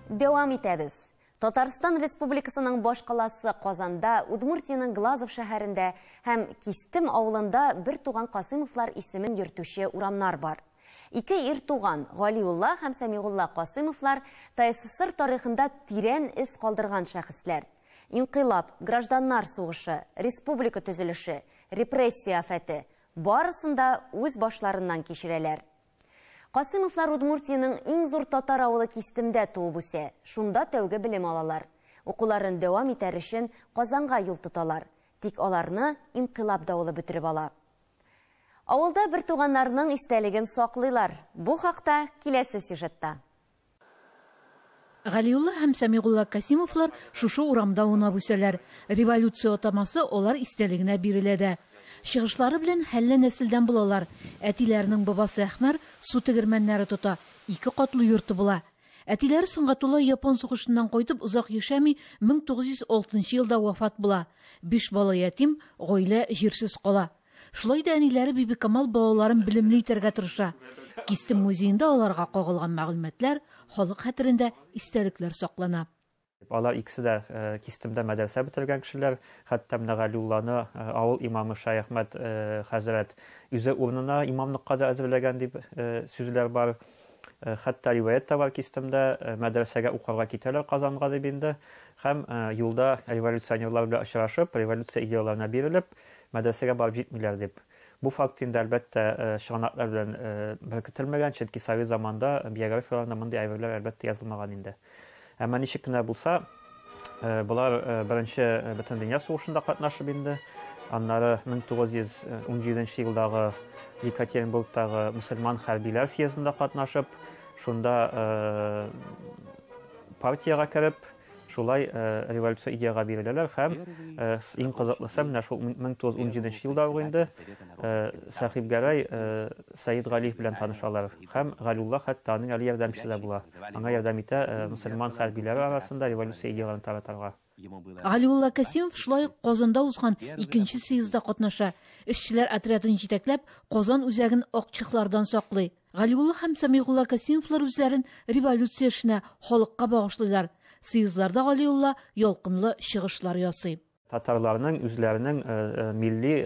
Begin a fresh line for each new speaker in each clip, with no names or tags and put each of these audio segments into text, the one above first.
Дәвам итәбез. Татарстан Республикасының башкаласы Казанда, Удмуртиянең Глазов шәһәрендә һәм Кистем авылында бер туган Касыймовлар исемен йөртүче урамнар бар. Ике ир туган Галиулла һәм Сәмигулла Касыймовлар ТАССР тарихында тирән эз калдырган шәхесләр. Инкыйлаб, гражданнар сугышы, республика төзелеше, репрессия афәте барысын да үз башларыннан кичерәләр. Касыймовлар Удмуртиянең иң зур татар авылы Кистемдә туып үсә. Шунда тәүге белем алалар. Укуларын дәвам итәр өчен Казанга юл тоталар. Тик аларны инкыйлаб давылы бөтереп ала. Авылда бер туганнарның истәлеген саклыйлар. Бу хакта киләсе сюжетта.
Галиулла һәм Сәмигулла Касимовлар шушы урамда аунап үсәләр. Революция атамасы алар истәлегенә бирелә дә. Чыгышлары белән хәлле нәселдән булалар. Әтиләренең бабасы Әхмәр су тегермәннәре тота, ике катлы йорты була. Әтиләре Сөнгатулла япон сугышыннан кайтып озак яшәми, 1906 елда вафат була. Биш бала ятим, гаилә җирсез кала. Шулай да әниләре Бибикамал балаларын белемле итәргә тырыша. Кистем музеенда аларга кагылган мәгълүматлар, халык хәтерендә истәлекләр саклана.
Алар икесе дә Кистемдә мәдрәсә бетергән кешеләр. Хәтта менә Галиулланы авыл имамы Шәяхмәт хәзрәт үзе урынына имамлыкка да әзерләгән дип сүзләр бар. Хәтта риваять тә бар Кистемдә, мәдрәсәгә укырга китәләр Казанга дип инде. Һәм юлда революционерлар белән очрашып, революция идеяларына бирелеп, мәдрәсәгә барып җитмиләр дип. Бу факт инде, әлбәттә, чыганаклар белән беркетелмәгән, чөнки совет заманында биографияләрендә мондый әйберләр, әлбәттә, язылмаган инде. Әмма ничек кенә булса, болар беренче Бөтендөнья сугышында катнашып инде, аннары 1917 елдагы Екатеринбургтагы мөселман хәрбиләр съездында катнашып, шунда партиягә кереп, шулай революция идеяга биреләләр һәм иң кызыклысы менә шул 1917 елда ук инде Сәхибгәрәй Сәид Галиев белән танышалар һәм Галиулла хәтта аның әле ярдәмчесе дә була. Аңа ярдәм итә мөселман хәрбиләре арасында революция идеяларын таратарга.
Галиулла Касимов шулай ук Казанда узган икенче съездда катнаша. Эшчеләр отрядын җитәкләп, Казан үзәген акчехлардан саклый. Галиулла һәм Сәмигулла Касимовлар үзләрен революция эшенә, халыкка багышлыйлар. Съездларда Галиулла ялкынлы чыгышлар ясый.
Татарларның үзләренең милли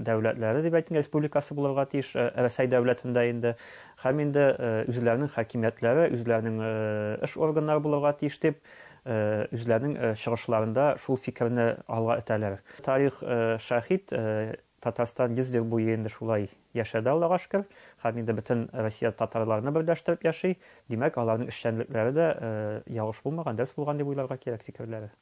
дәүләтләре дип әйтик, республикасы булырга тиеш Рәсәй дәүләтендә инде. Һәм инде үзләренең хакимиятләре, үзләренең эш органнары булырга тиеш дип, үзләренең чыгышларында шул фикерне алга этәләр. Тарих шаһит, Татарстан 100 ел буе инде шулай яшәде, Аллага шөкер. Һәм инде бөтен Россия татарларны берләштереп яши. Димәк, аларның эшчәнлекләре дә ялгыш булмаган, дөрес булган дип уйларга кирәк фикерләре.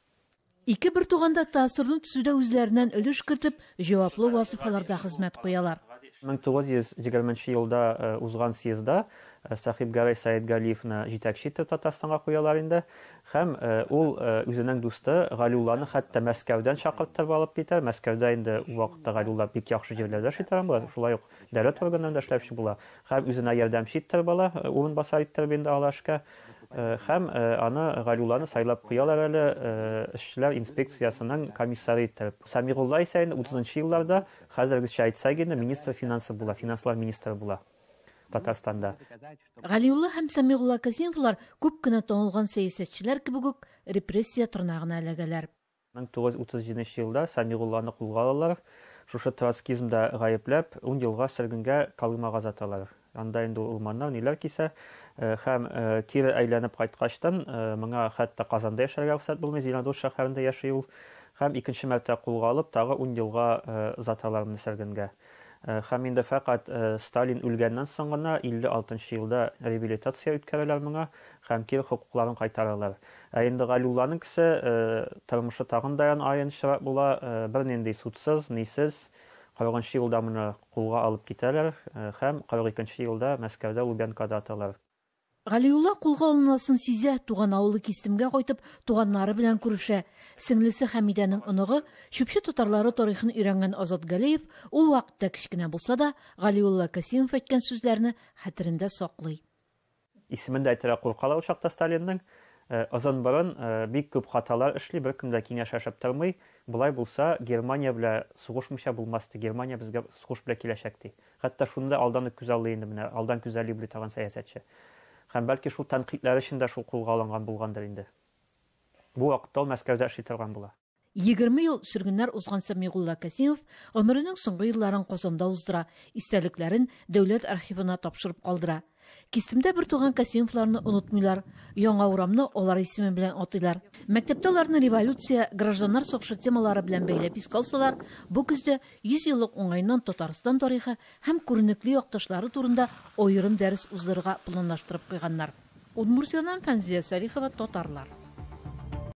Ике бер туган да ТАССРны төзүдә үзләреннән өлеш кертеп, җаваплы вазыйфаларда хезмәт куялар.
1920 елда узган съездда Сәхибгәрәй Сәетгалиевны җитәкче итеп Татарстанга куялар инде. Һәм ул үзенең дусты Галиулланы хәтта Мәскәүдән чакырттырып алып китә. Мәскәүдә инде ул вакытта Галиулла бик яхшы җирләрдә эшли торган була, шулай ук дәүләт органнарында эшләүче була. Һәм үзенә ярдәмче иттереп ала, урынбасар иттереп инде ала эшкә. Һәм аны Галиулланы сайлап куялар әле эшчеләр инспекциясенең комиссары иттереп. Сәмигулла исә инде 30 елларда, хәзергечә әйтсәк инде, министр финансы була, финанслар министры була Татарстанда.
Галиулла һәм Сәмигулла Касимовлар күп кенә танылган сәясәтчеләр кебек үк репрессия тырнагына эләгәләр.
1937 елда Сәмигулланы кулга алалар. Шушы троцкизмда гаепләп, 10 елга сөргенгә Колымага озаталар. Анда инде ул урманнар ниләр кисә, һәм кире әйләнеп кайткачтан, моңа хәтта Казанда яшәргә рөхсәт булмый, Зеленодольск шәһәрендә яши ул. Һәм икенче мәртәбә кулга алып, тагы 10 елга озаталар моны сөргенгә. Һәм инде фәкать Сталин үлгәннән соң гына 56 елда реабилитация үткәрәләр моңа һәм кире хокукларын кайтаралар. Ә инде Галиулланың кесе тормышы тагын да аянычрак була, бернинди судсыз, нисез 40 елда моны кулга алып китәләр һәм 42 елда Мәскәүдә Лубянкада аталар.
Галиулла кулга алынасын сизә, туган авылы Кистемгә кайтып, туганнары белән күрешә. Сеңлесе Хәмидәнең оныгы, Чүпче татарлары тарихын өйрәнгән Азат Галиев ул вакытта кечкенә булса да, Галиулла Касимов әйткән сүзләрне хәтерендә саклый.
Исемен дә әйтергә куркалар ул чакта Сталинның. Озын борын, бик күп хаталар эшли, беркем дә киңәшләшеп тормый. Болай булса, Германия белән сугышмыйча булмас ди. Германия безгә сугыш белән киләчәк ди. Хәтта шуны да алдан ук күзаллый инде менә, алдан күзаллый белә торган сәясәтче. Һәм бәлки шул тәнкыйтьләр өчен дә шул кулга алынган булгандыр инде. Бу вакытта ул Мәскәүдә эшли торган була.
20 ел сөргеннәр узган Сәмигулла Касимов гомеренең соңгы елларын Казанда уздыра, истәлекләрен дәүләт архивына тапшырып калдыра. Кистемдә бер туган Касимовларны онытмыйлар. Яңа урамны алар исеме белән атыйлар. Мәктәптә аларны революция, гражданнар сугышы темалары белән бәйләп искә алсалар, бу көздә 100 еллык уңаеннан Татарстан тарихы һәм күренекле якташлары турында аерым дәрес уздырырга планлаштырып куйганнар. Удмуртияннан Фәнзилә Салихова, Татарлар.